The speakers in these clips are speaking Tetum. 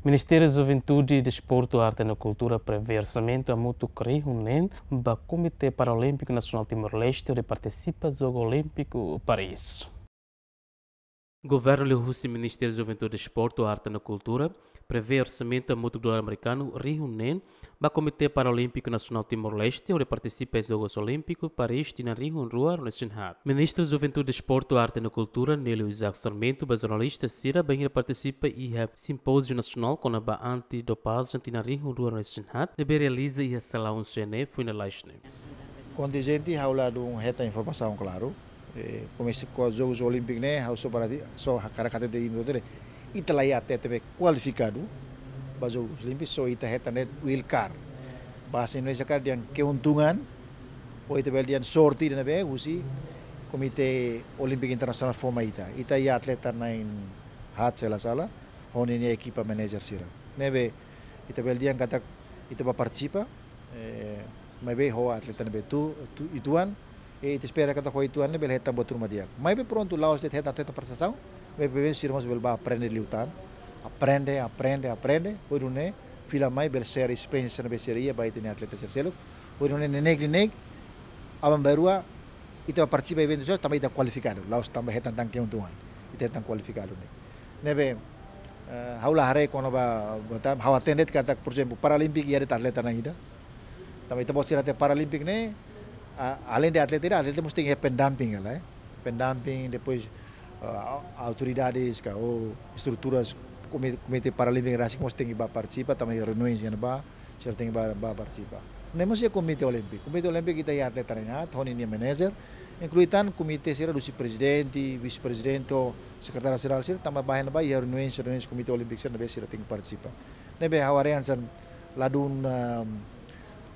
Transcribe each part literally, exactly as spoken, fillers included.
Ministériu Juventude, Desportu, Arte no Kultura prevee orsamentu hamutuk rihun neen ba Komité Paralímpiku Nasionál Timor-Leste hodi partisipa Jogu Olímpiku Paris. Governu liuhusi Ministériu Juventude, Desportu, Arte no Kultura prevee orsamentu hamutuk dolar amerikanu rihun neen ba Komité Paralímpiku Nasionál Timor-Leste hodi partisipa iha Jogus Olímpiku Paris tinan rihun rua ruanulu-resin-haat. Ministru Juventude, Desportu, Arte no Kultura, Nélio Isaac Sarmento, ba jornalista sira bainhira partisipa iha simpóziu nasionál kona-ba anti-dopajen tinan rihun rua ruanulu-resin-haat ne'ebé realiza iha salaun C N E foin lalais ne'e. Kontinjente, ha'u la dún hetan informasaun klaru. Eh, komesa ho Jogus Olímpiku ne'e, ha'u só para di, só hakarak hatete imi hotu de'it. Ita la iha atleta be kualifikadu ba Jogus Olímpiku, só ita hetan de'it wild card. Bahasa Indonesia katak dehan keuntungan, ou ita bele dehan sorte ida ne'ebé husi Komité Olímpiku Internasionál fó mai ita. Ita iha atleta na'in haat se la sala, ho ninia ekipa manager sira. Ne'ebé ita bele dehan katak ita bá partisipa, eh, maibé ho atleta ne'ebé tu, tu, uitoan, e ita espera katak ho uitoan ne'e bele hetan buat ruma di'ak. Maibé prontu, la'ós de'it hetan atleta prestasaun, maibé sira mós bele bá aprende liután, aprende, aprende, aprende, hodi nune'e fila mai bele share esperiénsia ne'ebé sira iha ba ita-nia atleta sira seluk, hodi nune'e neineik-neineik, aban-bainrua ita partisipa eventu sira tanba ita kualifikadu, la'ós tanba hetan tan keuntungan, ita hetan kualifikadu ne'e. Ne'ebé, eh, ha'u la haree kona-ba, ba tan, ha'u hatene de'it katak, por ezemplu, Paralímpiku iha de'it atleta na'in ida. Tanba ita-boot sira hatene Paralímpiku ne'e, a, além de atleta ida, atleta mós tenke iha pendamping, ya, eh. Pendamping, depois, ah, autoridades ka, ou estruturas Komité, Komité Paralímpiku rasik mós tenke bá partisipa, tanba reuniões iha ne'ebá, sira tenke bá, bá partisipa. Ne'e mós iha Komité Olímpiku. Komité Olímpiku ita iha atleta na'in haat, ho ninia manager, inklui tan komité sira husi prezidente, vise-prezidente, sekretáriu jerál sira, tanba bá iha ne'ebá iha reuniões, reuniões Komité Olímpiku sira ne'ebé sira tenke partisipa. Ne'ebé ha'u haree hanesan la dún, ehm,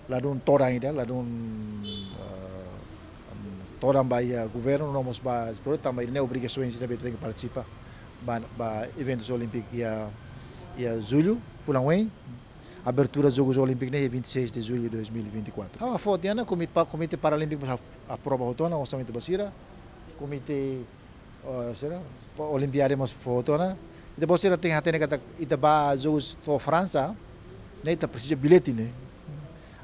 la dún todan ida, la dún, eh, todan ba iha governu, no mós ba, tanba ida-ne'e obrigasaun sira ne'ebé tenke partisipa ba, ba eventus olímpiku iha, iha jullu, fulan oin, abertura Jogus Olímpiku ne'e vinte e seis de julho de dois mil e vinte e quatro. Ha'u fó tiha ona, Komité Pa-, Komité Paralímpiku mós ap-, aprova hotu ona orsamentu ba sira, Komité, oh, sira, pa-, Olimpiada mós fó hotu ona. Ita-boot sira tenke hatene katak ita bá Jogus to'o Fransa, ne'e ita presiza billete ne'e.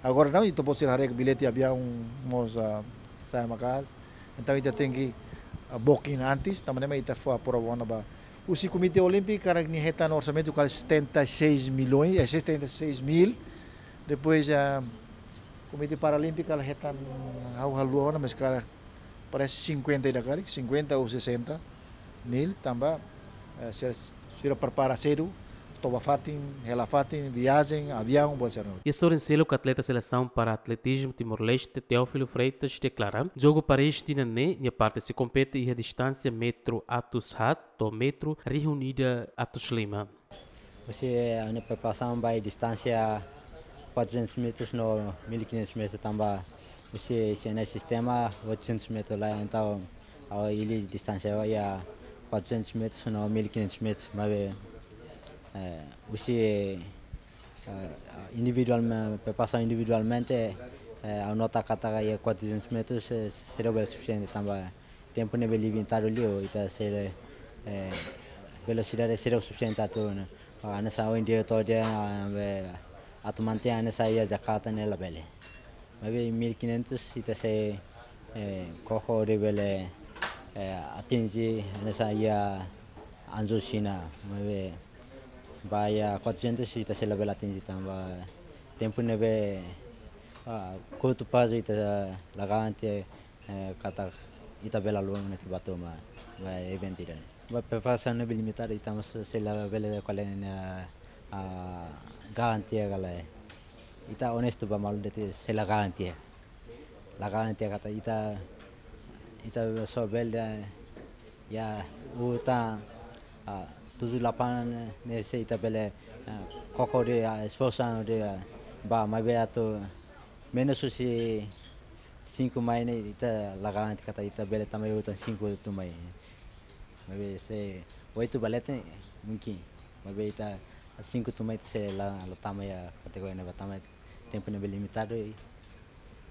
Agora não, ita-boot sira haree bilhete aviaun mós, ah, sa'e maka'as. Entaun ita tenke, ah, booking antes, tanba ne'e mak ita fó aprova ona ba. Husi Komité Olímpiku hakarak nia hetan orsamentu kala setenta e seis milhões, eh, setenta e seis mil. Depois, ah, Komité Paralímpiku hakarak hetan, ha'u haluha ona, mas hakarak parese cinquenta ida karik, cinquenta ou sessenta mil, tanba, eh, sira, sira prepara sedu, toba fatin, hela fatin, viajen, aviaun, buat sira-ne'e. Iha sorin seluk, atleta selesaun para atletizmu Timor-Leste, Teófilo Freitas, deklara, Jogu Paris tinan ne'e, nia parte sei kompete iha distánsia metru atus haat to'o metru rihun ida atus lima. Husi, eh, ha'u-nia preparasaun ba iha distánsia quatrocentos metros no mil e quinhentos metros tanba husi, husi nia sistema oitocentos metros la, entaun ha'u hili distánsia ba iha quatrocentos metros no mil e quinhentos metros, maibé, eh, husi, eh, individualme-, preparasaun individualmente, eh, ha'u nota katak iha quatrocentos metros, eh, seidauk bele sufisiente tanba tempu ne'ebé limitadu liu, ita sei, eh, velosidade seidauk sufisiente atu, ne'e. Hanesan ohin di'ak to'o dehan, ah, be, atu mantein hanesan iha Jakarta ne'e labele. Maibé mil e quinhentos ita sei, eh, koko hodi bele, eh, atinje hanesan iha Hangzhou Xina. Maibé ba iha quatrocentos ita sei labele atinje tanba tempu ne'ebé, ah, curto prazo ita la garante, eh, katak ita bele haluha ona atu bá to'o ba, ba eventu ida-ne'e. Ba preparasaun ne'ebé limitadu, ita mós sei labele ko'alia ne'e, ah, garantia ka lae. Ita onestu ba malu de'it, sei la garantia. La garantia katak ita, ita só bele, ya, uta, ah, tujuh delapan ne'e sei ita bele, ah, koko de'it, ah, esforsu de'it, ah, ba, maibé atu menus husi cinco mai ne'e ita la garantia katak ita bele tama iha utan cinco tuirmai. Maibé se oito ba leten, mungkin. Maibé ita cinco tuirmai ita sei la, la tama iha kategoria ne'ebá tanba tempu ne'ebé limitadu,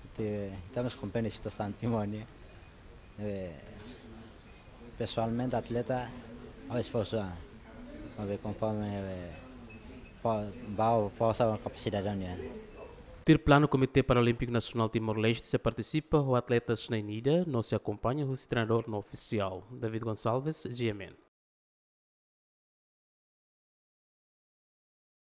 ita, ita mós komprende situasaun Timor nian. Eh, pesoalmente atleta, ha'u esforsu, ah, maibé konforme, eh, Fó, bau, forsa kapasidade nian. Tuir planu, Komité Paralímpiku Nasionál Timor-Leste sei partisipa ho atletas na'in-ida no sei akompaña husi treinadór no ofisiál. David Gonçalves, G M N.